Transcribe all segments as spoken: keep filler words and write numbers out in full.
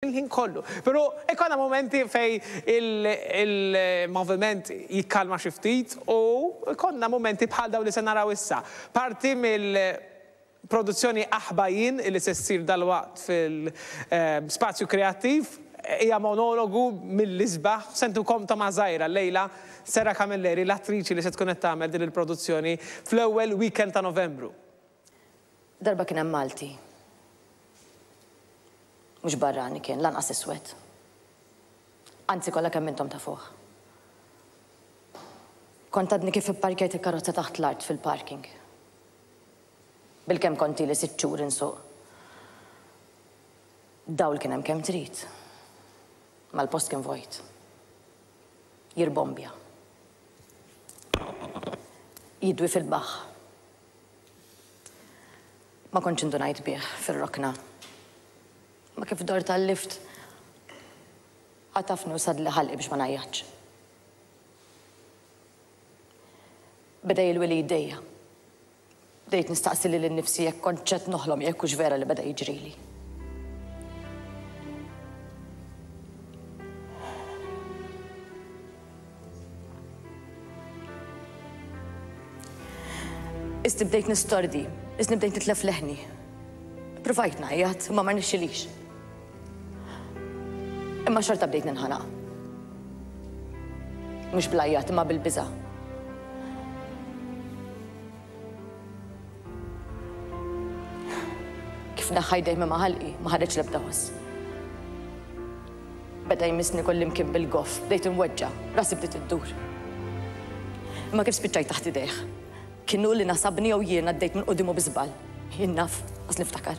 Il-ħin kollu. Pero ikonna momenti fej il-moviment jikkalma xi ftit u ikonna momenti bħal daw li se naraw issa. Parti mill-produzzjoni Aħba Jien li se ssir dalwaqt fil-spazju kreattiv hija monologu mill-isbaħ. Se ntukom togħma żgħira llejla Sarah Camilleri, l-attriċi li se tkun qed tagħmel din il-produzzjoni fl-ewwel weekend ta' Novembru. Darba kien hemm Malti. Mhux barrani kien, lanqas iswed. Anzi, kollha kemm intom tafuh. Kont għadni kif ipparkjajt il-karozza taħt l-art fil-parking. Bilkemm kont ili sitt xhur insuq. Dawl kien hemm kemm trid. Ma l-post kien vojt. Jirbombja. Jidwi fil-baħħ. Ma kontx indunajt bih fir-rokna. Ma kif dort tal-lift, għatafni u sadli ħalqi biex ma ngħajjatx. Beda jilwi li jdejja. Bdejt nistaqsi lili nnifsi jekk kont qed noħlom, jekk hux vera li beda jiġrili. Isni bdejt nistordi, isni bdejt nitlef leħni. Provajt ngħajjat, ma ma rnexxilix. Imma xorta bdejt ninħanaq. Mhux bl-għajjat, imma bil-biża'. Kif neħħa jdejh minn ma' ħalqi, ma ħareġ l-ebda ħoss. Beda jmissni kullimkien bil-goff, bdejt inweġġa', rasi bdiet iddur. Imma kif spiċċajt taħt idejh? Kien hu li nasabni jew jien għaddejt minn quddiemu bi żball? Jien naf, qas niftakar.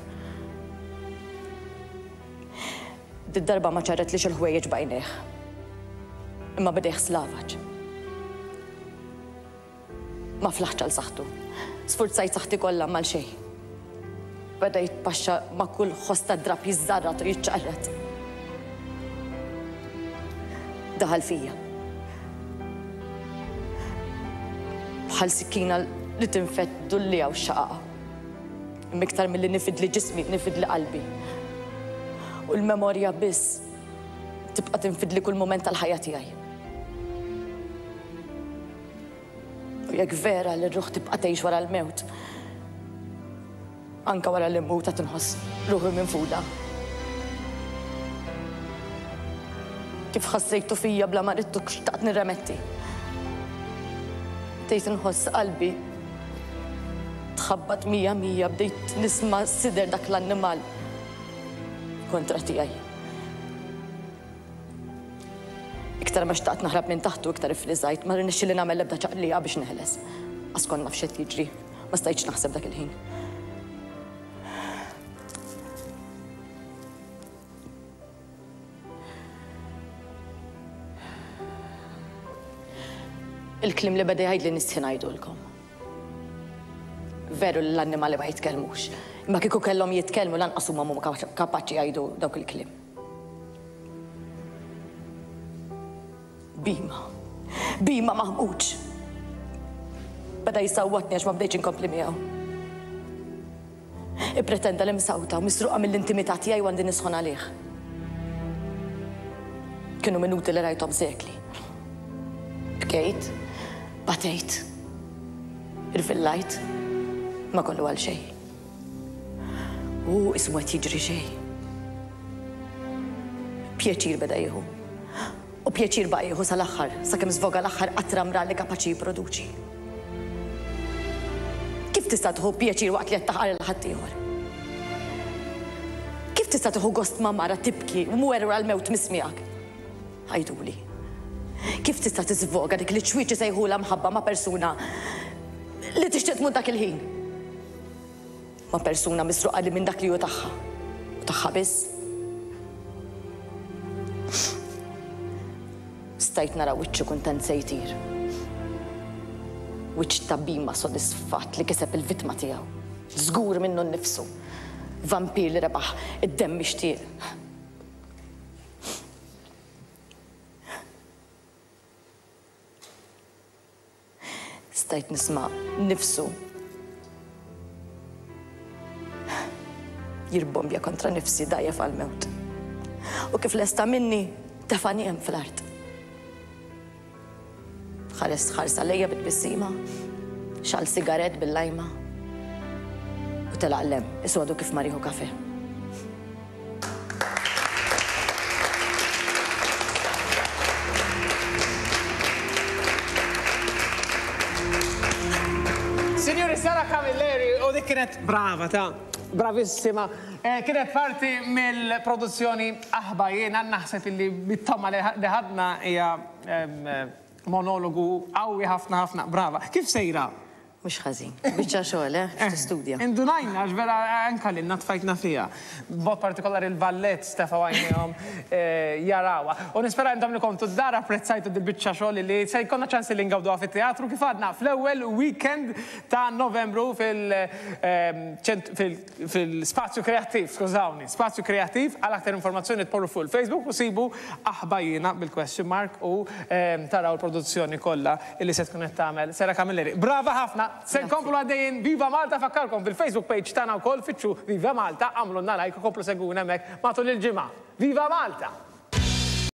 Did-darba ma ċarretlix il-ħwejjeġ b'għajnejh. Imma bidejh slavaġ. Ma flaħtx għal saħħtu. Sfurzajt saħħti kollha mal xejn. Beda jitpaxxa ma' kull ħoss ta' drapp jiżżarrat u jiċċarrat. Daħal fija. Bħal sikkina li tinfed dullija u xaqaqa. Imma iktar milli nifidli ġismi, nifidli qalbi. U l-memorja biss tibqa' tinfidli kull mument tal-ħajja tiegħi. U jekk vera li r-ruħ tibqa' tgħix wara l-mewt, anke wara li mmut qed inħoss ruħi minfuda. Kif ħassejtu fija bla ma ridtu xtaqt nirremetti. Bdejt inħoss qalbi tħabbat mija mija, bdejt nisma' sider dak l-annimal kontra tiegħi. Iktar ma xtaqt naħrab minn taħtu, iktar ifriżajt, ma rnexxieli nagħmel l-ebda ċaqliqa biex neħles. Qas kont naf x'qed jiġri, ma stajtx naħseb dak il-ħin. Il-kliem li beda jgħidli nistħi ngħidulkom. Veru li l-annimali ma jitkellmux, imma kieku kellhom jitkellmu lanqas huma mhuma kapaċi jgħidu dawk il-kliem. Bima, bima maħmuġ. Beda jisawwatni għax ma bdejtx inkompli miegħu. Ippretenda li msawta u misruqa mill-intimità tiegħi u għandi nisħon għalih. Kienu minuti li rajthom sekli. Bkejt, batejt, irvillajt, ma kollu għal xejn. U ismu qed jiġri xejn. Pjaċir beda jieħu. U pjaċir baqa' jieħu sal-aħħar, sakemm żvoga l-aħħar qatra mrar li kapaċi jipproduċi. Kif tista' tieħu pjaċir waqt li qed taħqar lil ħaddieħor? Kif tista' tieħu gost ma' mara tibki u mwerwra l-mewt mismiegħek? Għiduli. Kif tista' tiżvoga dik li ċwieċi sejħulha mħabba ma' persuna li tixtieq tmut dak il-ħin? Ma' persuna misruqa li minn dak li hu tagħha. U tagħha biss. Stajt nara wiċċu kuntent se jtir. Wiċċ ta' bima sodisfatt li kiseb il-vittma tiegħu. Żgur minnu nnifsu. Vampir li rebaħ id-demm mixtieq. Stajt nisma' nifsu jirbombja kontra nifsi dajjef għal-mewt. U kif lesta minni, tefani hemm fl-art. Ħares ħarsa lejja bit-tbissima, xal sigaret bil-lajma u telaq lem, iswadu kif mariħu kafe. Signori, Sara Camilleri, u dik kienet brava ta' bravissima. Kienet parti mill-produzzjoni Aħba Jiena, naħseb illi bit-toma li ħadna hija monologu qawwi ħafna ħafna, brava. Kif sejra? Mhux ħażin, biċċa xogħol, eh, tistudja. Indunajna, għax vera anka lilna tfajtna fiha. B'mod partikolari il-ballet stefa għajnejhom jarawha. U nispera intom li kontu d-dar apprezzajtu di biċċa xogħol li se jkollna ċans li ngawduha fit-teatru kif għadna fl-ewwel weekend ta' Novembru fil-spazju kreattiv, skużawni, spazju kreattiv. Għal aktar informazzjoni tporru fuq il-Facebook u sibu Aħba Jiena bil-question mark u taraw il-produzzjoni kollha li se tkun qed tagħmel Sara Camilleri. Brava ħafna! Se nkomplu għaddejjin Viva Malta, fakkarkom fil-Facebook page tagħna wkoll, fittxu Viva Malta, għamlulna like u komplu segwuna hemmhekk matul il-ġimgħa. Viva Malta!